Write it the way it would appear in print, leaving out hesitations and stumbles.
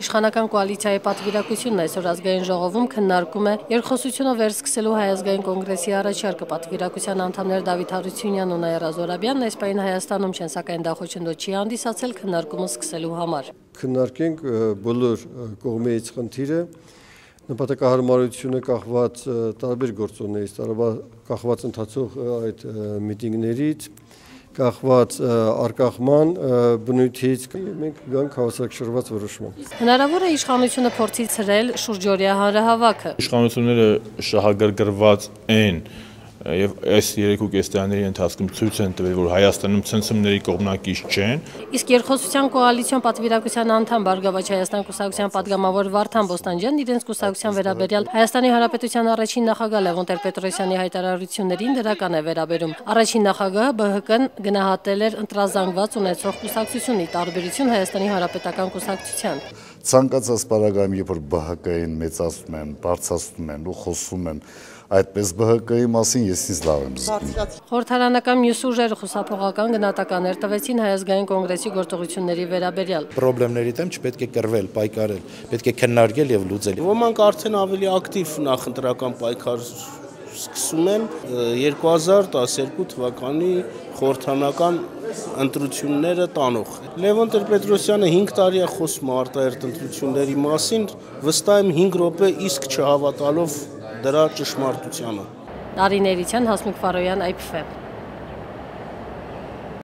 Իշխանական կոալիցիայի պատվիրակությունն այսօր ազգային ժողովում քննարկում է երկխոսությունը վերսկսելու Հայ ազգային կոնգրեսի առաջարկը։ Պատվիրակության անդամներ Դավիթ Հարությունյանն ու Նաիրա Զոհրաբյանն այս պահին Հայաստանում չեն, սակայն դա խոչընդոտ չի հանդիսացել քննարկումը սկսելու համար։ Քննարկենք բոլոր կողմերից խնդիրը, նպատակահարմարությունը կախված տարբեր գործոններից, կախված ընթացող այդ միտինգներից, կախված արկախման բնույթից, մենք գանք հավասարակշռված որոշման։ Հնարավոր է իշխանությունը փորձի ցրել շուրջօրյա հանրահավաքը։ Իշխանությունները շահագրգռված են եւ այս 3.5 տարիների ընթացքում ցույց են տվել, որ Հայաստանում ցնցումների կողմնակից չեն։ Իսկ երկխոսության կոալիցիոն պատվիրակության անդամ Բարգավաճ Հայաստան կուսակցության падգամավոր Վարդան Բոստանջյանն իրենց կուսակցության վերաբերյալ Հայաստանի Հանրապետության առաջին նախագահ Լևոն Տեր-Պետրոսյանի հայտարարություններին դրական է վերաբերում։ Առաջին նախագահը ԲՀԿ-ն գնահատել էր ընտրազանգված ունեցող կուսակցություն՝ ի տարբերություն Հայաստանի Հանրապետական կուսակցության։ Ցանկացած պարագայում, երբ որ ԲՀԿ-ին մեծացնում են, բարձրացնում են ու խոսում են այդպես ԲՀԿ-ի մասին, ես ինձ լավ եմ զգում։ Խորհրդարանական մյուս ուժերը խուսափողական գնահատականներ տվեցին Հայ ազգային կոնգրեսի գործողությունների վերաբերյալ։ Պրոբլեմների դեմ չպետք է կռվել, պայքարել, պետք է քննարկել եւ լուծել։ Ոմանք արդեն ավելի ակտիվ նախընտրական պայքար սկսում են 2012 թվականի խորհրդարանական ընտրությունները տանող։ Լևոն Տեր-Պետրոսյանը 5 տարի է խոսում արտահերթ ընտրությունների մասին, վստահ եմ 5 րոպե իսկ չհավատալով դրա ճշմարտությանը։ Տարին Էրիցյան, Հասմիկ Ֆարոյան, IPF։